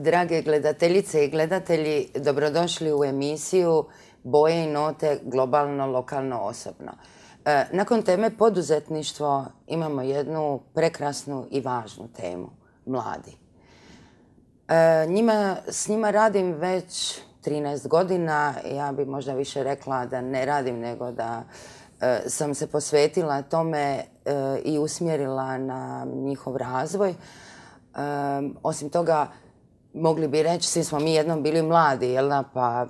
Drage gledateljice i gledatelji, dobrodošli u emisiju Boje i note globalno, lokalno, osobno. Nakon teme poduzetništvo imamo jednu prekrasnu i važnu temu, mladi. S njima radim već 13 godina, ja bi možda više rekla da ne radim nego da sam se posvetila tome i usmjerila na njihov razvoj. Osim toga, mogli bi reći, svi smo mi jednom bili mladi, jel da, pa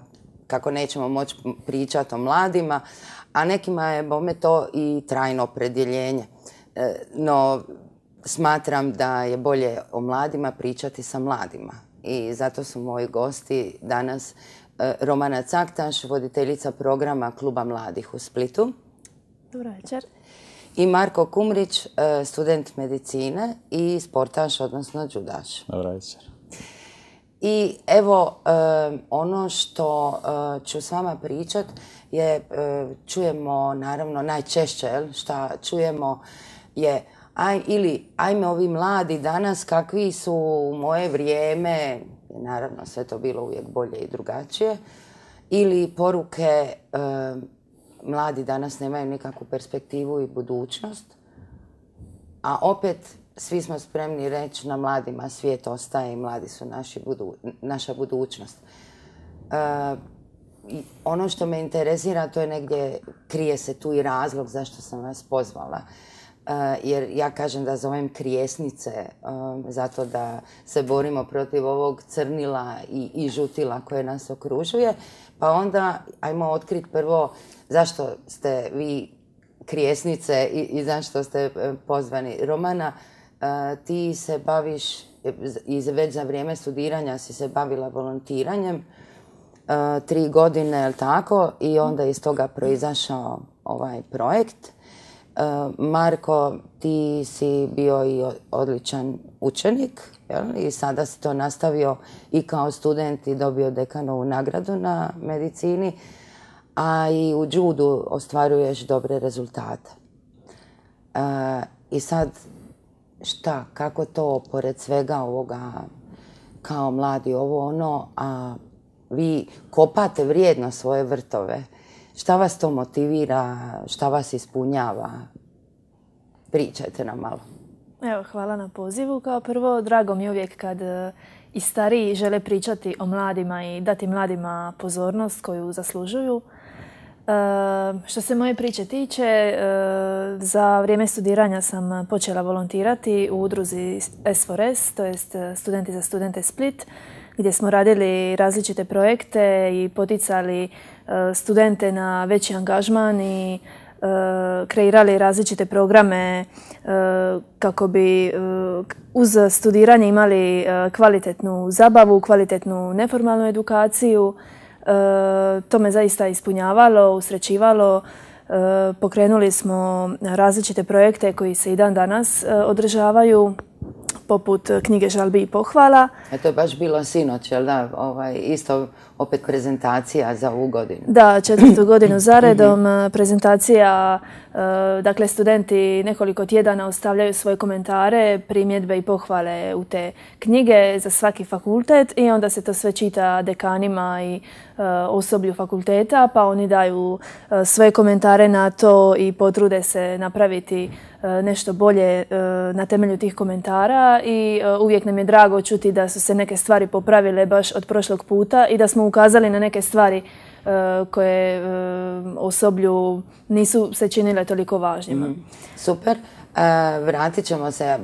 kako nećemo moći pričati o mladima, a nekima je bome to i trajno opredjeljenje. No, smatram da je bolje o mladima pričati sa mladima. I zato su moji gosti danas Romana Caktaš, voditeljica programa Kluba mladih u Splitu. Dobro večer. I Marko Kumrić, student medicine i sportaš, odnosno džudaš. Dobro večer. I evo, ono što ću s vama pričat je, čujemo naravno najčešće, šta čujemo je ajme ovi mladi danas kakvi su u moje vrijeme, naravno sve to bilo uvijek bolje i drugačije, ili poruke mladi danas nemaju nikakvu perspektivu i budućnost, a opet svi smo spremni reći na mladima svijet ostaje i mladi su naša budućnost. Ono što me interesira, to je negdje, krije se tu i razlog zašto sam vas pozvala. Jer ja kažem da zovem krijesnice zato da se borimo protiv ovog crnila i žutila koje nas okružuje. Pa onda ajmo otkriti prvo zašto ste vi krijesnice i zašto ste pozvani. Romana, ti se baviš, već za vrijeme studiranja si se bavila volontiranjem, 3 godine, je li tako? I onda iz toga proizašao ovaj projekt. Marko, ti si bio i odličan učenik, jel? I sada si to nastavio i kao student i dobio dekanovu nagradu na medicini, a i u džudu ostvaruješ dobre rezultate. I sad, šta, kako to pored svega ovoga kao mladi ovo ono, a vi kopate vrijedno svoje vrtove. Šta vas to motivira, šta vas ispunjava? Pričajte nam malo. Evo, hvala na pozivu. Kao prvo, drago mi je uvijek kad i stariji žele pričati o mladima i dati mladima pozornost koju zaslužuju. Što se moje priče tiče, za vrijeme studiranja sam počela volontirati u udruzi S4S, to jest Studenti za studente Split, gdje smo radili različite projekte i poticali studente na veći angažman i kreirali različite programe kako bi uz studiranje imali kvalitetnu zabavu, kvalitetnu neformalnu edukaciju. To me zaista ispunjavalo, usrećivalo. Pokrenuli smo različite projekte koji se i dan danas održavaju, poput knjige žalbi i pohvala. To je baš bilo sinoć, jel da? Isto opet prezentacija za ovu godinu. Da, 4. godinu zaredom prezentacija, dakle studenti nekoliko tjedana ostavljaju svoje komentare, primjedbe i pohvale u te knjige za svaki fakultet i onda se to sve čita dekanima i osoblju fakulteta, pa oni daju svoje komentare na to i potrude se napraviti nešto bolje na temelju tih komentara i uvijek nam je drago čuti da su se neke stvari popravile baš od prošlog puta i da smo ukazali na neke stvari koje osoblju nisu se činile toliko važnjima. Super. Vratit ćemo se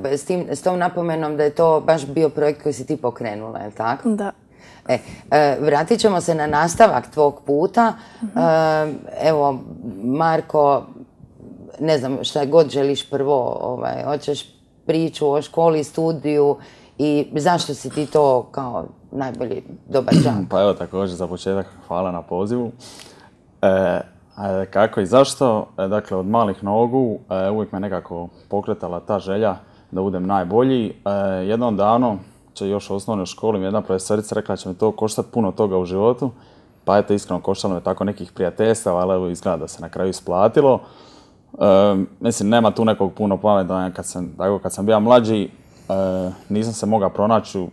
s tom napomenom da je to baš bio projekt koji si ti pokrenula, je li tako? Da. Vratit ćemo se na nastavak tvog puta. Evo, Marko, ne znam šta god želiš prvo, hoćeš priču o školi, studiju i zašto si ti to kao najbolji dobar đak? Pa evo također za početak hvala na pozivu. Kako i zašto? Dakle, od malih nogu uvijek me nekako pokretala ta želja da budem najbolji. Jednom davno, još u osnovnoj školi, mi jedna profesorica rekla da će me to koštati puno toga u životu. Pa eto, iskreno koštalo me tako nekih prijateljstava, ali evo izgleda da se na kraju isplatilo. Mislim, nema tu nekog puno pametanja kad sam bio mlađi. Nisam se mogao pronaći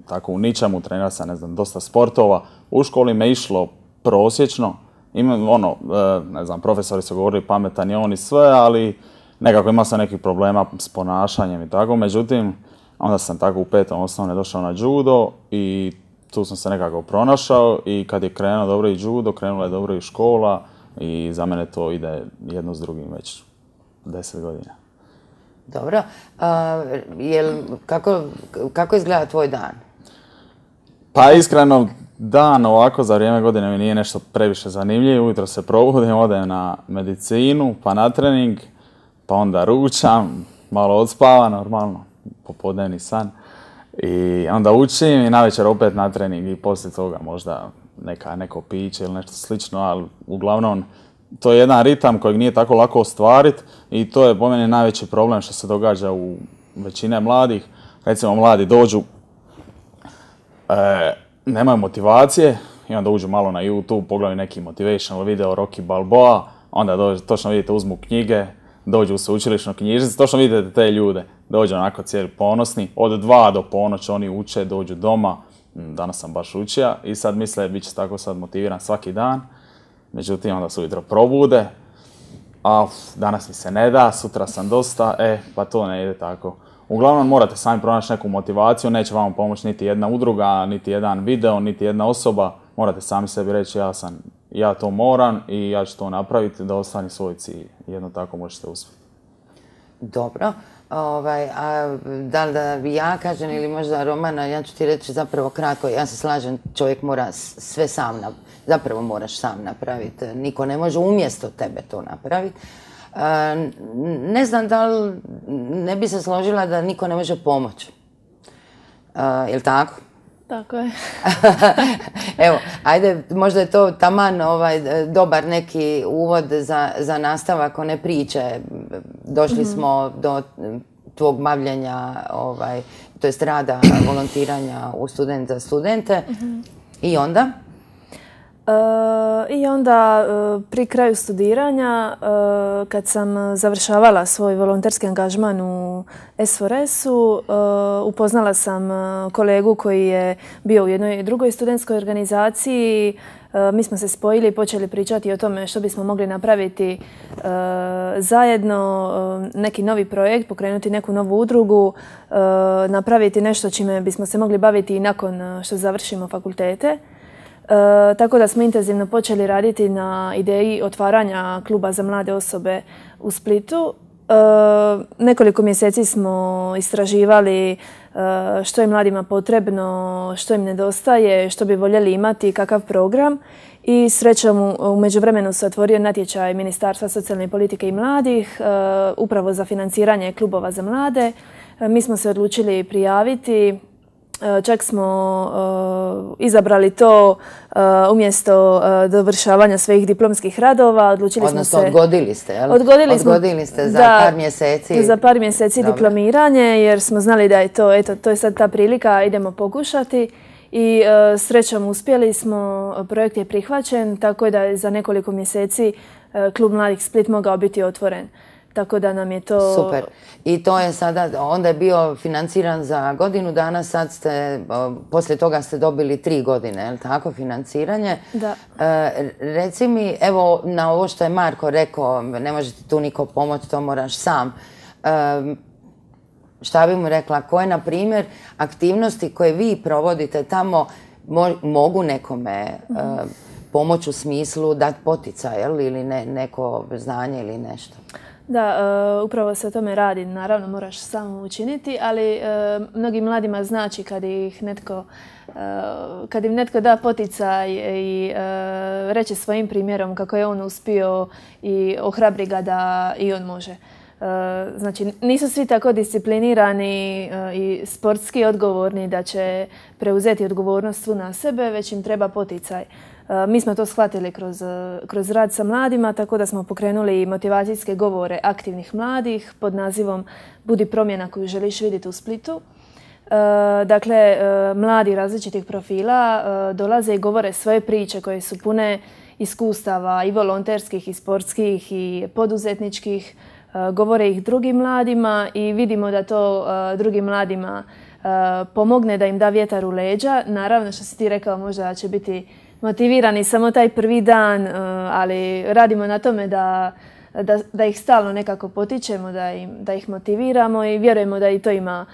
tako u ničemu, trenirao sam, ne znam, dosta sportova. U školi me išlo prosječno. Ne znam, profesori su govorili pametan je on i sve, ali nekako imao sam nekih problema s ponašanjem i tako. Međutim, onda sam tako u 5. osnovne došao na judo i tu sam se nekako pronašao i kad je krenuo dobro i judo, krenula je dobro i škola i za mene to ide jedno s drugim već 10 godina. Dobro. Kako izgleda tvoj dan? Pa iskreno, dan ovako za vrijeme godine mi nije nešto previše zanimljivo. Ujutro se probudim, odem na medicinu, pa na trening, pa onda ručam, malo odspavam, normalno, popodnevni san. I onda učim i navečer opet na trening i poslije toga možda neko piće ili nešto slično, ali uglavnom to je jedan ritam kojeg nije tako lako ostvariti i to je po meni najveći problem što se događa u većine mladih. Recimo, mladi dođu, nemaju motivacije i onda uđu malo na YouTube, pogledaju neki motivational video Rocky Balboa, onda točno vidite, uzmu knjige, dođu u sveučilišnu knjižnicu, točno vidite te ljude, dođu onako cijeli ponosni, od 2 do ponoći oni uče, dođu doma, danas sam baš učio i sad misle bit će tako sad motiviran svaki dan, međutim onda se ujutro probude, a danas mi se ne da, sutra sam dosta, pa to ne ide tako. Uglavnom morate sami pronaći neku motivaciju, neće vam pomoći niti jedna udruga, niti jedan video, niti jedna osoba, morate sami sebi reći ja to moram i ja ću to napraviti da ostane svoj cilj. Jedno tako možete uspjeti. Dobro. A da li da ja kažem ili možda Romana, ja ću ti reći zapravo kratko, ja se slažem, čovjek mora sve sam, zapravo moraš sam napraviti. Niko ne može umjesto tebe to napraviti. Ne znam da li ne bi se složila da niko ne može pomoći. Je li tako? Tako je. Evo, ajde, možda je to taman dobar neki uvod za nastavak one priče. Došli smo do tvog bavljenja, to jest rada, volontiranja u Student za studente. I onda? I onda pri kraju studiranja, kad sam završavala svoj volonterski angažman u SFORES-u, upoznala sam kolegu koji je bio u jednoj drugoj studentskoj organizaciji. Mi smo se spojili i počeli pričati o tome što bismo mogli napraviti zajedno, neki novi projekt, pokrenuti neku novu udrugu, napraviti nešto čime bismo se mogli baviti i nakon što završimo fakultete. Tako da smo intenzivno počeli raditi na ideji otvaranja kluba za mlade osobe u Splitu. Nekoliko mjeseci smo istraživali što je mladima potrebno, što im nedostaje, što bi voljeli imati, kakav program. I srećom u međuvremenu se otvorio natječaj Ministarstva socijalne politike i mladih upravo za financiranje klubova za mlade. Mi smo se odlučili prijaviti. Čak smo izabrali to umjesto dovršavanja svojih diplomskih radova. Odnosno odgodili ste, jel? Odgodili ste za par mjeseci. Za par mjeseci diplomiranje jer smo znali da je to je sad ta prilika, idemo pokušati. I srećom uspjeli smo, projekt je prihvaćen, tako da je za nekoliko mjeseci Klub mladih Split mogao biti otvoren. Tako da nam je to... Super. I to je sada, onda je bio financiran za godinu dana, sad ste, poslije toga ste dobili 3 godine, je li tako, financiranje? Da. Reci mi, evo, na ovo što je Marko rekao, ne može ti tu niko pomoći, to moraš sam. Šta bi mu rekla, koje, na primjer, aktivnosti koje vi provodite tamo mogu nekome pomoći u smislu dati poticaj, ili neko znanje ili nešto? Da, upravo se o tome radi. Naravno, moraš samo učiniti, ali mnogim mladima znači kad im netko da poticaj i reče svojim primjerom kako je on uspio i ohrabri ga da i on može. Znači, nisu svi tako disciplinirani i sportski odgovorni da će preuzeti odgovornost na sebe, već im treba poticaj. Mi smo to shvatili kroz rad sa mladima, tako da smo pokrenuli motivacijske govore aktivnih mladih pod nazivom Budi promjena koju želiš vidjeti u Splitu. Dakle, mladi različitih profila dolaze i govore svoje priče koje su pune iskustava i volonterskih i sportskih i poduzetničkih. Govore ih drugim mladima i vidimo da to drugim mladima pomogne, da im da vjetar u leđa. Naravno, što si ti rekao, možda će biti motivirani samo taj prvi dan, ali radimo na tome da ih stalno nekako potičemo, da ih motiviramo i vjerujemo da i to ima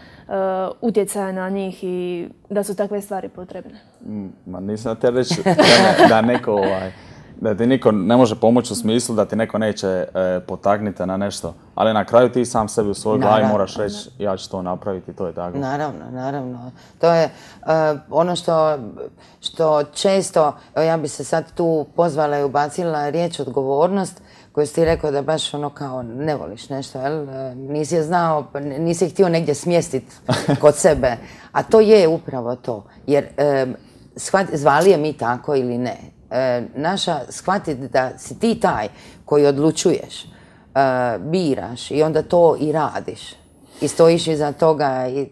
utjecaja na njih i da su takve stvari potrebne. Ma nisam te reći da ti niko ne može pomoći u smislu da ti neko neće potaknuti na nešto, ali na kraju ti sam sebi u svojoj glavi moraš reći ja ću to napraviti i to je tako. Naravno. To je ono što često, ja bi se sad tu pozvala i ubacila riječ odgovornost, koju si ti rekao da baš ono kao ne voliš nešto, jel? Nisi je znao, nisi je htio negdje smjestiti kod sebe. A to je upravo to. Jer zvali je mi tako ili ne. Naša shvatiti da si ti taj koji odlučuješ, biraš i onda to i radiš. I stojiš iza toga i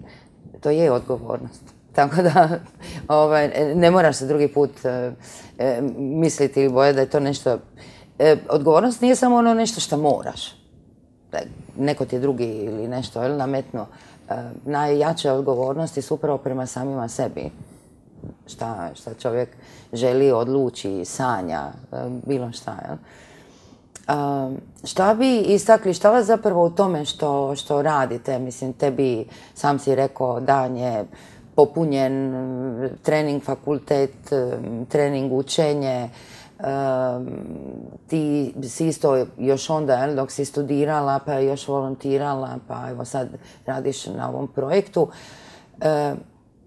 to je odgovornost. Tako da ne moraš se drugi put misliti ili bojati da je to nešto. Odgovornost nije samo ono nešto što moraš. Neko ti je drugi ili nešto nametnuo. Najjače odgovornosti su upravo prema samima sebi. Šta čovjek želi, odluči, sanja, bilo šta. Šta bi istakli, šta vas zapravo u tome što radite? Mislim, tebi, sam si rekao, dan je popunjen, trening fakultet, trening učenje. Ti si isto još onda, dok si studirala, pa još volontirala, pa evo sad radiš na ovom projektu.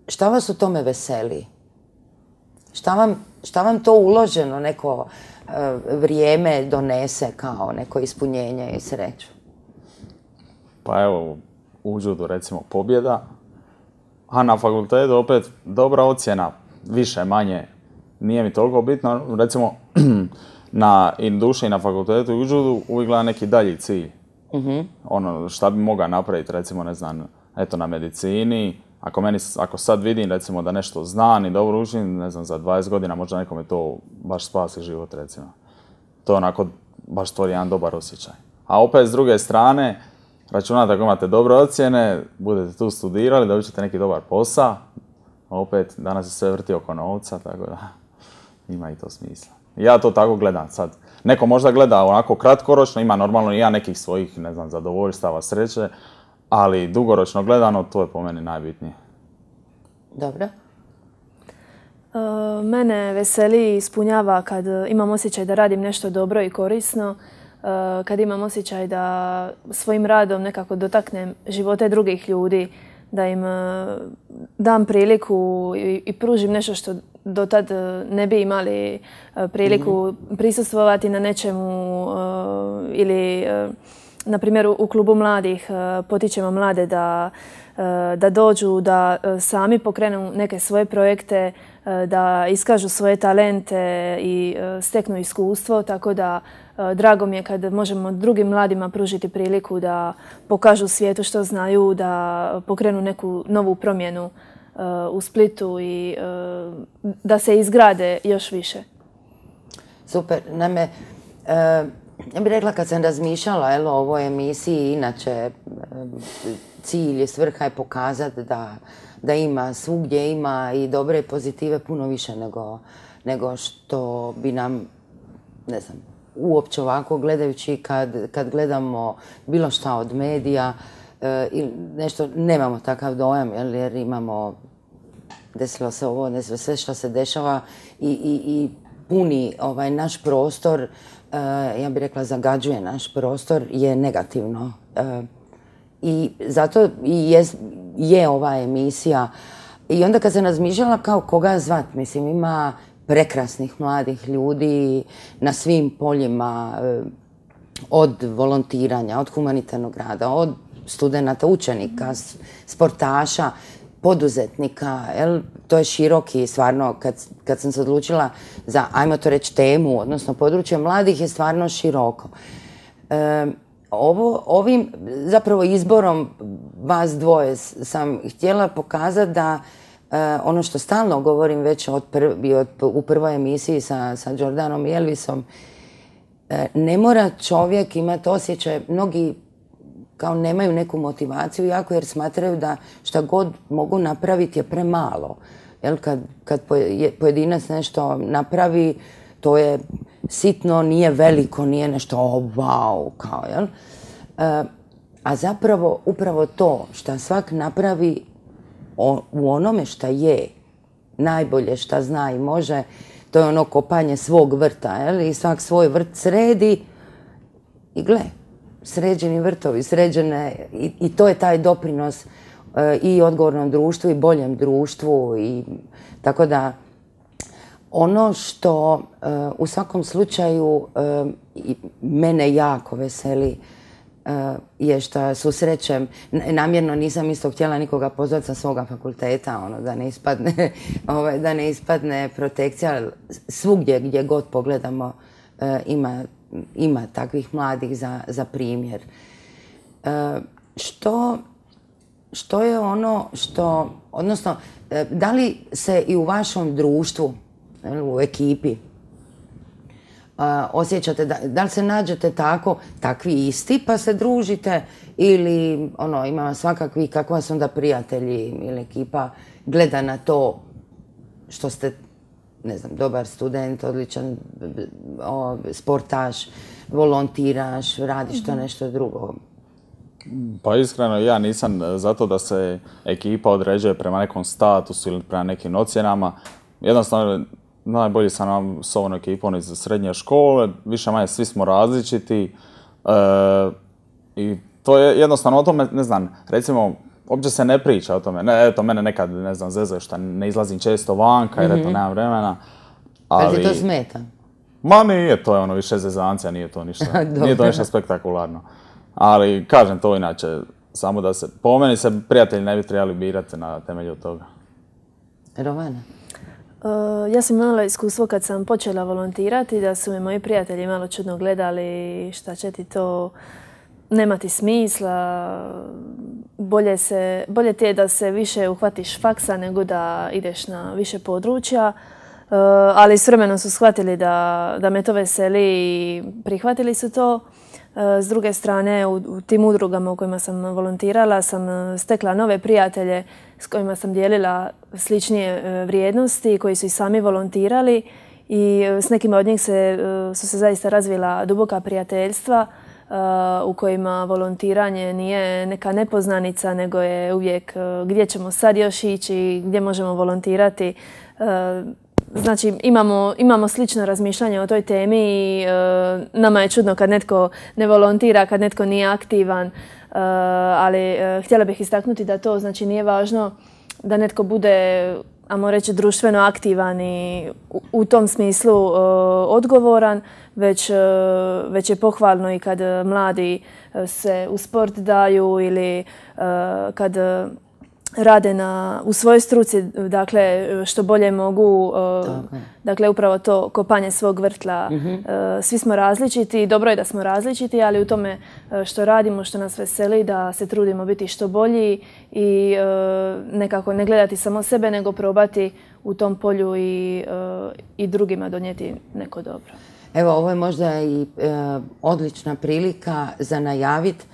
Šta vas u tome veseli? Šta vam to uloženo neko vrijeme donese kao neko ispunjenje i sreću? Pa evo, u judu recimo pobjeda, a na fakultetu opet dobra ocjena, više, manje, nije mi toliko bitno. Recimo, na duši i na fakultetu i u judu uvijek gleda neki dalji cilj. Ono, šta bi mogao napraviti, recimo, ne znam, eto na medicini. Ako sad vidim, recimo, da nešto znam i dobro učim, ne znam, za 20 godina možda nekome to baš spasi život, recimo. To onako baš stvori jedan dobar osjećaj. A opet, s druge strane, računate ako imate dobre ocjene, budete tu studirali, dobit ćete neki dobar posao. Opet, danas se sve vrti oko novca, tako da ima i to smisla. Ja to tako gledam sad. Neko možda gleda onako kratkoročno, ima normalno i ja nekih svojih, ne znam, zadovoljstava, sreće, ali dugoročno gledano, to je po meni najbitnije. Dobro. Mene veseli i ispunjava kad imam osjećaj da radim nešto dobro i korisno, kad imam osjećaj da svojim radom nekako dotaknem živote drugih ljudi, da im dam priliku i pružim nešto što do tad ne bi imali priliku prisustvovati na nečemu ili, na primjer, u klubu mladih potičemo mlade da dođu, da sami pokrenu neke svoje projekte, da iskažu svoje talente i steknu iskustvo, tako da drago mi je kad možemo drugim mladima pružiti priliku da pokažu svijetu što znaju, da pokrenu neku novu promjenu u Splitu i da se izgrade još više. Super. Naime, ja bih rekla kad sam razmišljala o ovoj emisiji, inače cilj i svrha je pokazati da ima, svugdje ima i dobre i pozitive puno više nego što bi nam, ne znam, uopće ovako gledajući kad gledamo bilo šta od medija ili nešto, nemamo takav dojam jer imamo, desilo se ovo, desilo sve što se dešava i puni naš prostor, ja bih rekla zagađuje naš prostor, je negativno. I zato je ova emisija. I onda kad sam razmišljala kao koga zvat, mislim, ima prekrasnih mladih ljudi na svim poljima, od volontiranja, od humanitarnog rada, od studenata, učenika, sportaša, poduzetnika. To je široki, stvarno, kad sam se odlučila za, ajmo to reći, temu, odnosno područje mladih je stvarno široko. Ovim zapravo izborom vas dvoje sam htjela pokazati da ono što stalno govorim već u prvoj emisiji sa Jordanom i Elvisom, ne mora čovjek imati osjećaj, mnogi kao nemaju neku motivaciju jako jer smatraju da šta god mogu napraviti je premalo. Jel, kad pojedinac nešto napravi, to je sitno, nije veliko, nije nešto wow, kao, jel? A zapravo upravo to što svak napravi u onome šta je, najbolje šta zna i može, to je ono kopanje svog vrta, jel? I svak svoj vrt sredi i gle, sređeni vrtovi, sređene, i to je taj doprinos i odgovornom društvu i boljem društvu, i tako da ono što u svakom slučaju mene jako veseli je što susrećem, namjerno nisam isto htjela nikoga pozvati sa svoga fakulteta, ono, da ne ispadne protekcija, svugdje gdje god pogledamo ima takvih mladih za primjer. Što je ono što, odnosno, da li se i u vašem društvu, u ekipi, osjećate, da li se nađete takvi isti pa se družite, ili ima svakakvi, kako vas onda prijatelji ili ekipa gleda na to što ste, ne znam, dobar student, odličan sportaš, volontiraš, radiš to nešto drugo? Pa iskreno, ja nisam zato da se ekipa određuje prema nekom statusu ili prema nekim ocjenama. Jednostavno, najbolji sam nam s ovom ekipom iz srednje škole, više manje svi smo različiti i to je jednostavno o tome, ne znam, recimo, uopće se ne priča o tome. Eto, mene nekad, ne znam, zezaju što ne izlazim često vanka jer eto, nemam vremena. Ali ti to smeta? Ma nije, to je više zezancija, nije to ništa spektakularno. Ali, kažem to inače, samo da se, po meni se prijatelji ne bi trebali birati na temelju toga. Rovana? Ja sam imala iskustvo kad sam počela volontirati, da su me moji prijatelji malo čudno gledali, šta će ti to, nema ti smisla, bolje ti je da se više uhvatiš faksa nego da ideš na više područja. Ali s vremenom su shvatili da me to veseli i prihvatili su to. S druge strane, u tim udrugama u kojima sam volontirala sam stekla nove prijatelje s kojima sam dijelila sličnije vrijednosti, koji su i sami volontirali, i s nekima od njih su se zaista razvila duboka prijateljstva u kojima volontiranje nije neka nepoznanica, nego je uvijek gdje ćemo sad još ići, gdje možemo volontirati. Znači, imamo slično razmišljanje o toj temi i nama je čudno kad netko ne volontira, kad netko nije aktivan, ali htjela bih istaknuti da to znači nije važno da netko bude, ajmo reći, društveno aktivan i u tom smislu odgovoran, već je pohvalno i kad mladi se u sport daju ili kad rade u svojoj struci, dakle, što bolje mogu, dakle, upravo to kopanje svog vrtla. Svi smo različiti, dobro je da smo različiti, ali u tome što radimo, što nas veseli, da se trudimo biti što bolji i nekako ne gledati samo sebe, nego probati u tom polju i drugima donijeti neko dobro. Evo, ovo je možda i odlična prilika za najavit.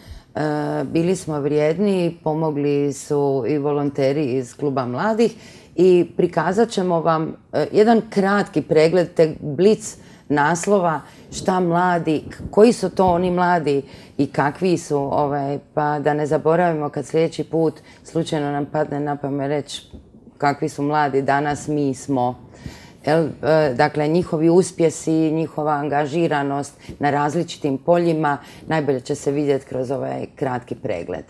Bili smo vrijedni, pomogli su i volonteri iz Kluba mladih i prikazat ćemo vam jedan kratki pregled te blic naslova šta mladi, koji su to oni mladi i kakvi su, pa da ne zaboravimo kad sljedeći put slučajno nam padne na pamet reći kakvi su mladi danas, mi smo. Dakle, njihovi uspjesi, njihova angažiranost na različitim poljima najbolje će se vidjeti kroz ovaj kratki pregled.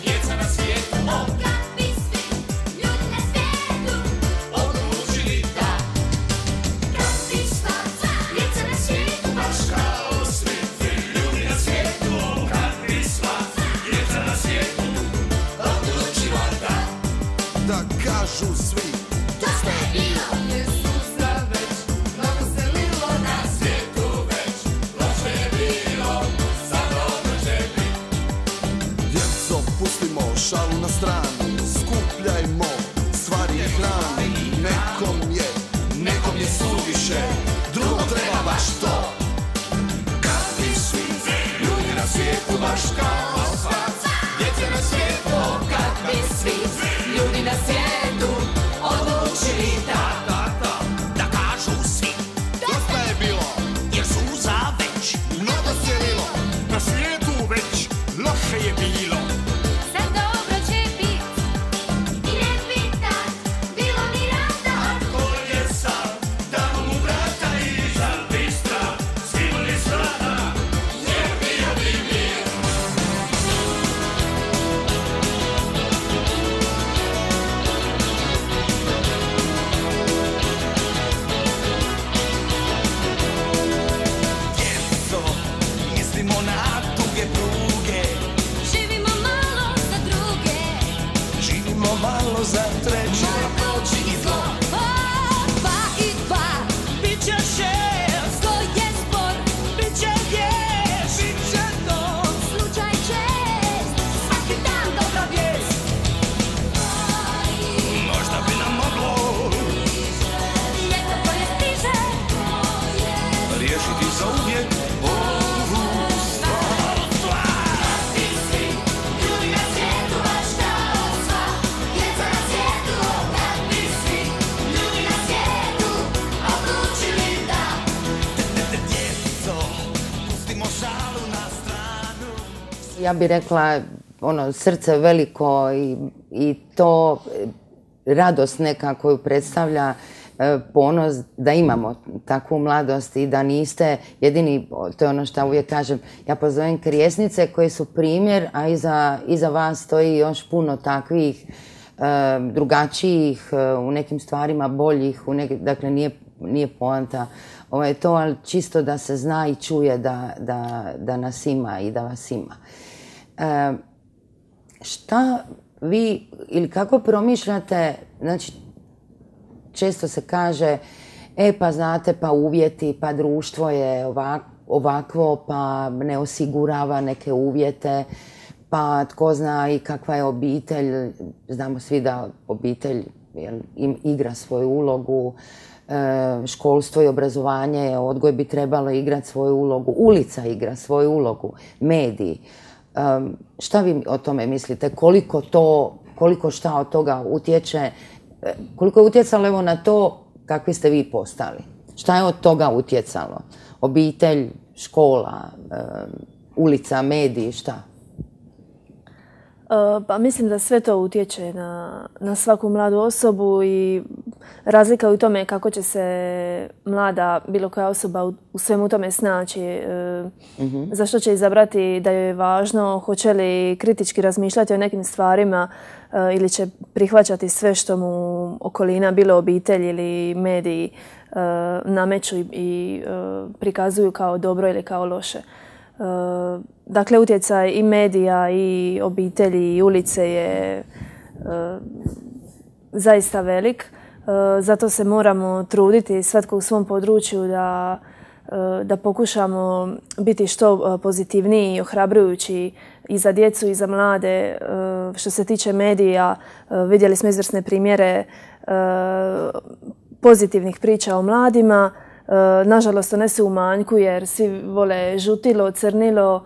Djeca na svijetu, kakvi svi ljudi na svijetu. šalu na stranu, skupljajmo stvari i hranu. Nekom je suviše, drugom treba baš to. Kad bi svi ljudi na svijetu baš kao svac, djece na svijetu. Kad bi svi ljudi na svijetu odlučili Da kažu svi, dosta je bilo, jer suza već mnogo sjelilo. Na svijetu već loše je bilo. sad dobro će bit i ne pitat bilo ni rata. Ko je sad, damo mu vrata i za bistra skinuli strada, jer bio bi mir. Djeco, mislimo na duge pruge, Živimo malo za druge, živimo malo za treće. moći i zlo. Dva i dva, Bit će šest, zlo je spor, bit će vješ, bit će noć, slučaj čest, svaki dan dobra vijest. možda bi nam moglo Ljeto koje stiže, riješiti zauvijek ovu stvar. ti svi ljudi na svijetu baš kao sva djeca na svijetu. Kad bi svi ljudi na svijetu odlučili da Djeco, pustimo šalu na stranu. Ja bih rekla, srce veliko i to radost neka koju predstavlja ponos da imamo takvu mladost i da niste jedini, to je ono što uvijek kažem, ja pozovem krijesnice koje su primjer, a iza vas stoji još puno takvih drugačijih, u nekim stvarima boljih, dakle nije poanta to, ali čisto da se zna i čuje da nas ima i da vas ima. Šta vi ili kako promišljate, znači često se kaže pa znate, pa uvjeti, pa društvo je ovakvo, pa ne osigurava neke uvjete, pa tko zna i kakva je obitelj. Znamo svi da obitelj igra svoju ulogu, školstvo i obrazovanje, odgoj bi trebalo igrati svoju ulogu, ulica igra svoju ulogu, mediji. Šta vi o tome mislite? Koliko šta od toga utječe? Koliko je utjecalo evo na to kakvi ste vi postali? Šta je od toga utjecalo? Obitelj, škola, ulica, mediji, šta? Pa mislim da sve to utječe na svaku mladu osobu i razlika je u tome kako će se mlada bilo koja osoba u svemu tome snaći. Zašto će izabrati da joj je važno, hoće li kritički razmišljati o nekim stvarima ili će prihvaćati sve što mu okolina, bilo obitelj ili mediji, nameću i prikazuju kao dobro ili kao loše. Dakle, utjecaj i medija i obitelji i ulice je zaista velik. Zato se moramo truditi svatko u svom području da pokušamo biti što pozitivniji i ohrabrujući i za djecu i za mlade. Što se tiče medija, vidjeli smo izvrsne primjere pozitivnih priča o mladima. Nažalost, one su u manjku jer svi vole žutilo, crnilo,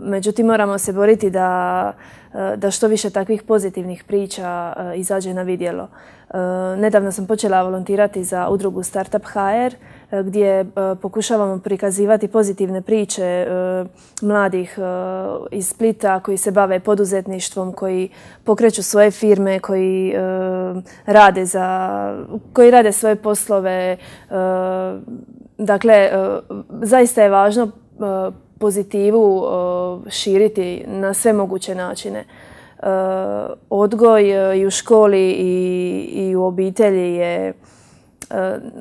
međutim moramo se boriti da što više takvih pozitivnih priča izađe na vidjelo. Nedavno sam počela volontirati za udrugu Startup HR gdje pokušavamo prikazivati pozitivne priče mladih iz Splita koji se bave poduzetništvom, koji pokreću svoje firme, koji rade svoje poslove. Dakle, zaista je važno pozitivu širiti na sve moguće načine. Odgoj i u školi i u obitelji je,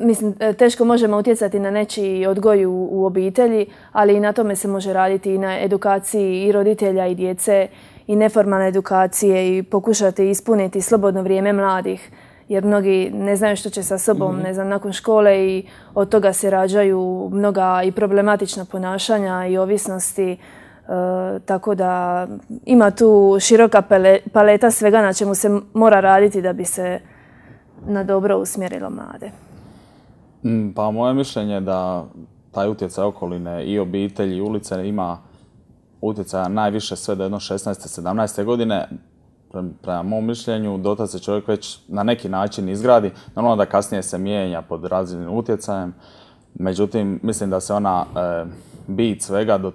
mislim, teško možemo utjecati na nečiji odgoj u obitelji, ali i na tome se može raditi i na edukaciji i roditelja i djece i neformalne edukacije i pokušati ispuniti slobodno vrijeme mladih. Jer mnogi ne znaju što će sa sobom, ne znam, nakon škole i od toga se rađaju mnoga i problematična ponašanja i ovisnosti. Tako da ima tu široka paleta svega na čemu se mora raditi da bi se na dobro usmjerilo mlade. Pa moje mišljenje je da taj utjecaj okoline i obitelji i ulice ima utjecaja najviše sve do jedno 16. 17. godine. Prema mom mišljenju, dotad se čovjek već na neki način izgradi. Normalno da kasnije se mijenja pod različitim utjecajem. Međutim, mislim da se ona bit svega do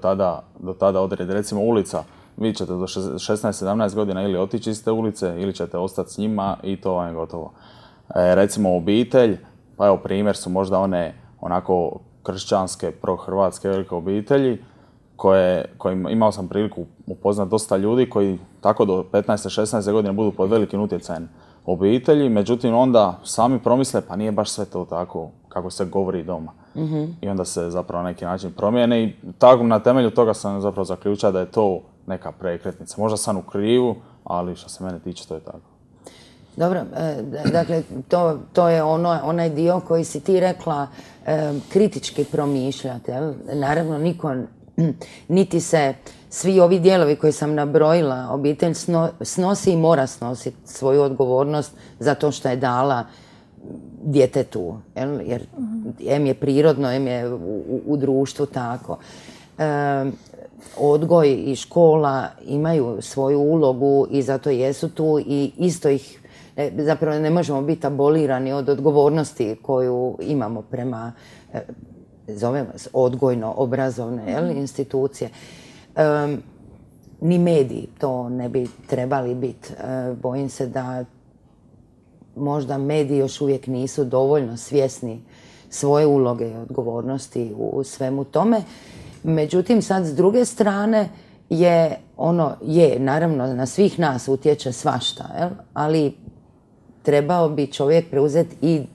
tada odredi. Recimo ulica, vi ćete do 16-17 godina ili otići iz te ulice ili ćete ostati s njima i to vam je gotovo. Recimo obitelj, pa evo primjer su možda one onako kršćanske, prohrvatske velike obitelji koje imao sam priliku upoznati dosta ljudi koji tako do 15-16 godine budu pod velikim utjecajem obitelji, međutim onda sami promisle pa nije baš sve to tako kako se govori doma. I onda se zapravo na neki način promijene i tako na temelju toga sam zapravo zaključio da je to neka prekretnica. Možda sam u krivu, ali što se mene tiče to je tako. Dobro, dakle, to je onaj dio koji si ti rekla kritički promišljati. Naravno, niko, niti se svi ovi dijelovi koje sam nabrojila, obitelj snosi i mora snositi svoju odgovornost za to što je dala djetetu. Jer em je prirodno, em je u društvu tako. Odgoj i škola imaju svoju ulogu i zato jesu tu i isto ih zapravo ne možemo biti abolirani od odgovornosti koju imamo prema zovemo odgojno-obrazovne institucije. Ni mediji to ne bi trebali biti. Bojim se da možda mediji još uvijek nisu dovoljno svjesni svoje uloge i odgovornosti u svemu tome. Međutim, sad s druge strane naravno na svih nas utječe svašta, ali trebao bi čovjek preuzeti i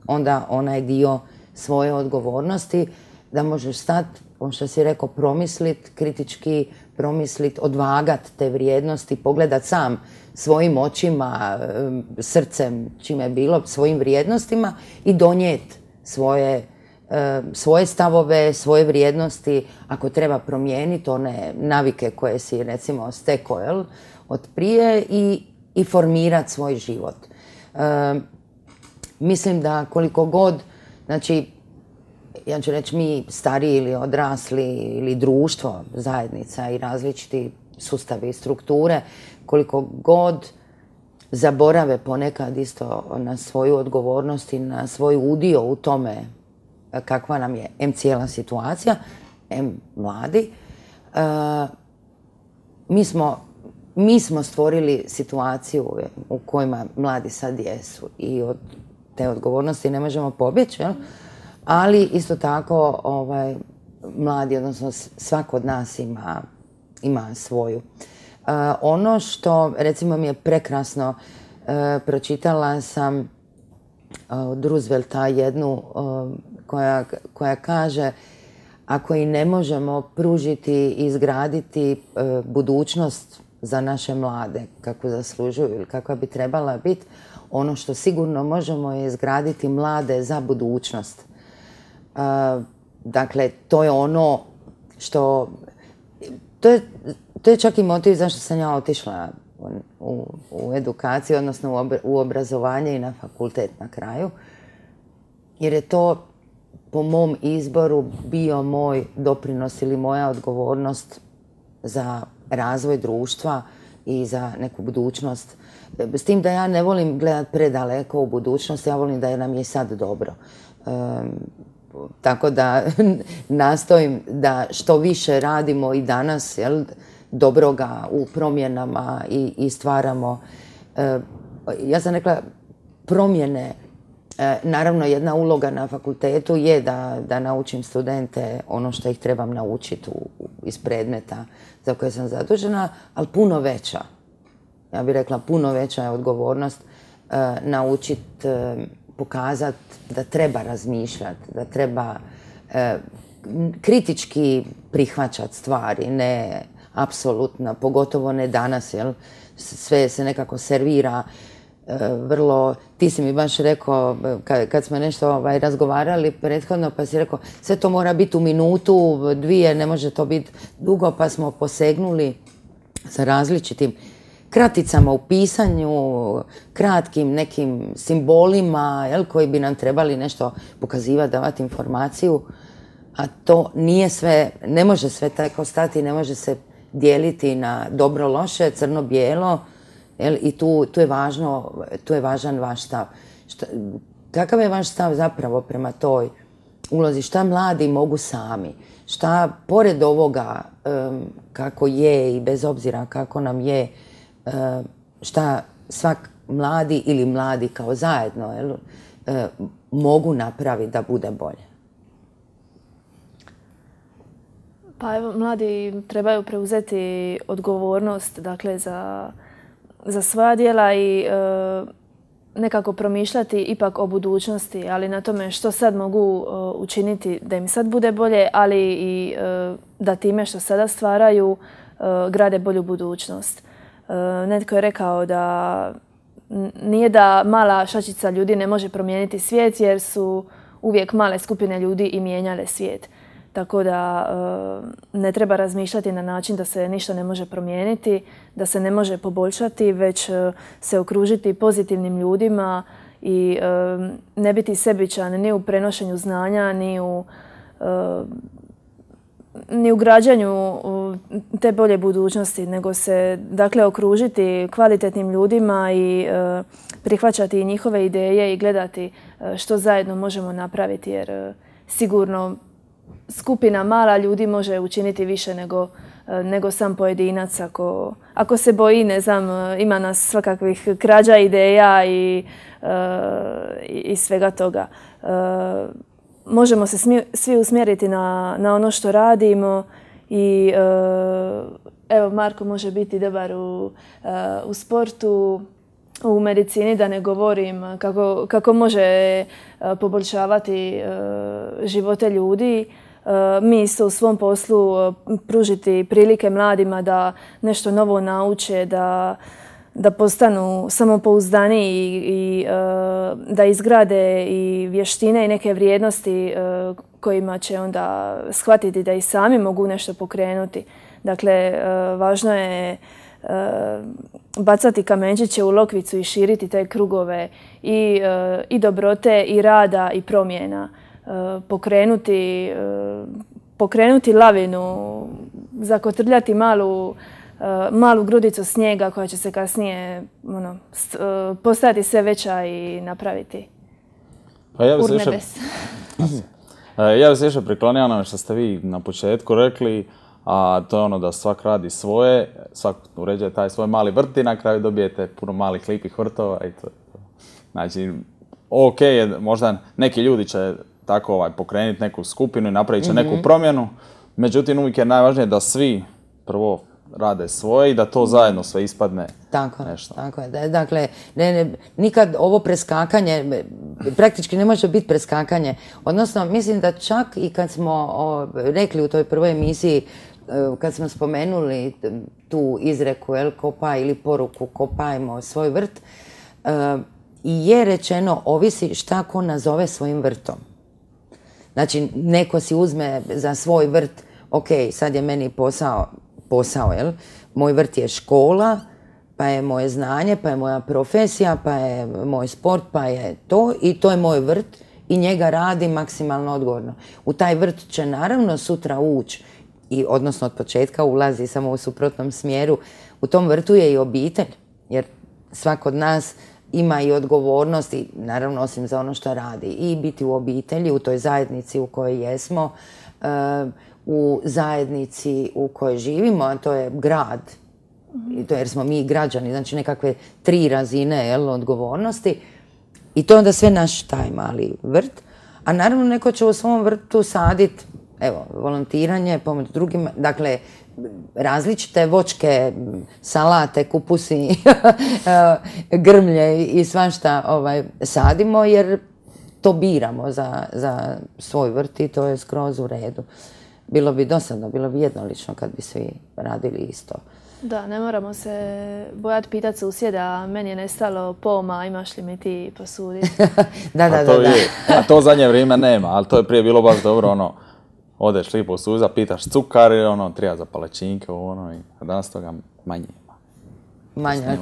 onda onaj dio svoje odgovornosti da možeš stati, ono što si rekao, promisliti, kritički promisliti, odvagati te vrijednosti, pogledati sam svojim očima, srcem, čime je bilo, svojim vrijednostima i donijeti svoje stavove, svoje vrijednosti, ako treba promijeniti one navike koje si recimo stekao od prije i formirati svoj život. Mislim da koliko god, znači, ja ću reći mi stariji ili odrasli ili društvo, zajednica i različiti sustavi i strukture, koliko god zaborave ponekad isto na svoju odgovornost i na svoj udio u tome kakva nam je cijela situacija, mladi, mi smo stvorili situaciju u kojima mladi sad jesu i od te odgovornosti ne možemo pobjeći, ali isto tako mladi, odnosno svako od nas ima svoju. Ono što recimo mi je prekrasno, pročitala sam od Roosevelta jednu koja kaže ako i ne možemo pružiti i izgraditi budućnost za naše mlade kako zaslužuju ili kakva bi trebala biti, ono što sigurno možemo je izgraditi mlade za budućnost. Dakle, to je ono što... To je čak i motiv zašto sam ja otišla u edukaciju, odnosno u obrazovanje i na fakultet na kraju. Jer je to po mom izboru bio moj doprinos ili moja odgovornost za razvoj društva i za neku budućnost. S tim da ja ne volim gledati predaleko u budućnost, ja volim da nam je sad dobro. Tako da nastojim da što više radimo i danas, dobroga u promjenama i stvaramo. Ja sam rekla promjene, naravno jedna uloga na fakultetu je da naučim studente ono što ih trebam naučiti iz predmeta za koje sam zadužena, ali puno veća. Ja bih rekla puno veća je odgovornost naučiti, pokazati da treba razmišljati, da treba kritički prihvaćati stvari, ne apsolutno, pogotovo ne danas, sve se nekako servira vrlo, ti si mi baš rekao, kad smo nešto razgovarali prethodno, pa si rekao, sve to mora biti u minutu, dvije, ne može to biti dugo, pa smo posegnuli sa različitim kraticama u pisanju, kratkim nekim simbolima, koji bi nam trebali nešto pokazivati, davati informaciju, a to nije sve, ne može sve tako stati, ne može se dijeliti na dobro, loše, crno, bijelo, i tu je važan vaš stav. Kakav je vaš stav zapravo prema toj ulozi? Šta mladi mogu sami? Šta pored ovoga kako je i bez obzira kako nam je, šta svak mladi ili mladi kao zajedno mogu napraviti da bude bolje? Pa evo, mladi trebaju preuzeti odgovornost, dakle, za svoja djela i nekako promišljati ipak o budućnosti, ali na tome što sad mogu učiniti da im sad bude bolje, ali i da time što sada stvaraju grade bolju budućnost. Netko je rekao da nije da mala šačica ljudi ne može promijeniti svijet, jer su uvijek male skupine ljudi i mijenjale svijet. Tako da ne treba razmišljati na način da se ništa ne može promijeniti, da se ne može poboljšati, već se okružiti pozitivnim ljudima i ne biti sebičan ni u prenošenju znanja, ni u građanju te bolje budućnosti, nego se dakle okružiti kvalitetnim ljudima i prihvaćati njihove ideje i gledati što zajedno možemo napraviti, jer sigurno skupina mala ljudi može učiniti više nego sam pojedinac ako se boji, ne znam, ima nas svakakvih krađa ideja i svega toga. Možemo se svi usmjeriti na ono što radimo i evo, Marko može biti dobar u sportu, u medicini, da ne govorim, kako može poboljšavati živote ljudi. Mi isto u svom poslu pružiti prilike mladima da nešto novo nauče, da postanu samopouzdaniji i da izgrade i vještine i neke vrijednosti kojima će onda shvatiti da i sami mogu nešto pokrenuti. Dakle, važno je bacati kamenčiće u lokvicu i širiti te krugove i dobrote i rada i promjena. Pokrenuti lavinu, zakotrljati malu grudicu snijega koja će se kasnije postajati sve veća i napraviti urnebes. Ja bih se više priklonio onome što ste vi na početku rekli, a to je ono da svak radi svoje, svak uređuje taj svoj mali vrt i na kraju dobijete puno malih lipih vrtova i to. Znači, ok, možda neki ljudi će tako pokrenuti neku skupinu i napravit će neku promjenu, međutim uvijek je najvažnije da svi prvo rade svoje i da to zajedno sve ispadne nešto. Tako je. Dakle, nikad ovo preskakanje, praktički ne može biti preskakanje. Odnosno, mislim da čak i kad smo rekli u toj prvoj emisiji, kad smo spomenuli tu izreku, kopaj ili poruku kopajmo svoj vrt, i je rečeno ovisi šta ko nazove svojim vrtom. Znači, neko si uzme za svoj vrt, ok, sad je meni posao, jel? Moj vrt je škola, pa je moje znanje, pa je moja profesija, pa je moj sport, pa je to i to je moj vrt i njega radi maksimalno odgovorno. U taj vrt će naravno sutra ući, odnosno od početka ulazi samo u suprotnom smjeru. U tom vrtu je i obitelj, jer svak od nas ima i odgovornost i naravno osim za ono što radi i biti u obitelji, u toj zajednici u kojoj jesmo, u zajednici u kojoj živimo, a to je grad, jer smo mi građani, znači nekakve 3 razine odgovornosti i to je onda sve naš taj mali vrt, a naravno neko će u svom vrtu saditi, evo, volontiranje, pomoć drugima, dakle, različite voćke, salate, kupusi, grmlje i svašta sadimo jer to biramo za svoj vrt i to je skroz u redu. bilo bi dosadno, bilo bi jednolično kad bi svi radili isto. Da, ne moramo se bojati pitati susjeda, meni je nestalo poma, imaš li mi ti posuditi? Da. A to u zadnje vrijeme nema, ali to je prije bilo baš dobro, odeš lipo u suza, pitaš cukar i treba za palačinke, i danas toga manje ima. Manje,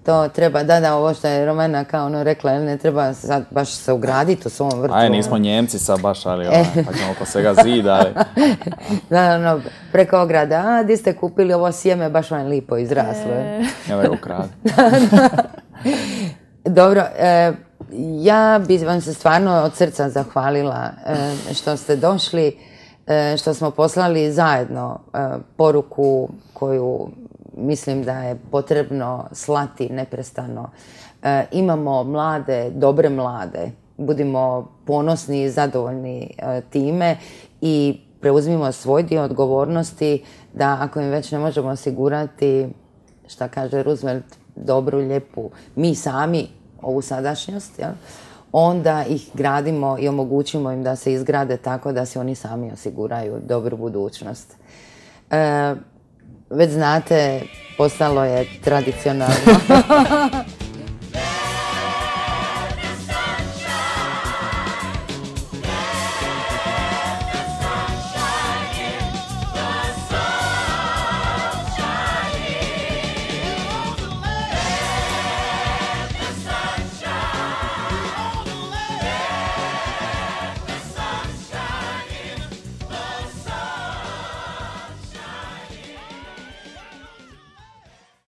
to treba, ovo što je Romana kao rekla, ne treba sad baš se ugraditi u svom vrtu. Aj, nismo Njemci sad baš, ali pa ćemo oko svega zida, ali... Da, preko ograda, di ste kupili ovo sjeme, baš vam je lipo izraslo. Ja da ga ukrade. Dobro, ja bih vam se stvarno od srca zahvalila što ste došli, što smo poslali zajedno poruku koju mislim da je potrebno slati neprestano. Imamo mlade, dobre mlade, budimo ponosni i zadovoljni time i preuzmimo svoj dio odgovornosti da ako im već ne možemo osigurati, šta kaže Roosevelt, dobru, lijepu, mi sami ovu sadašnjost, onda ih gradimo i omogućimo im da se izgrade tako da se oni sami osiguraju dobru budućnost. Već znate, postalo je tradicionalno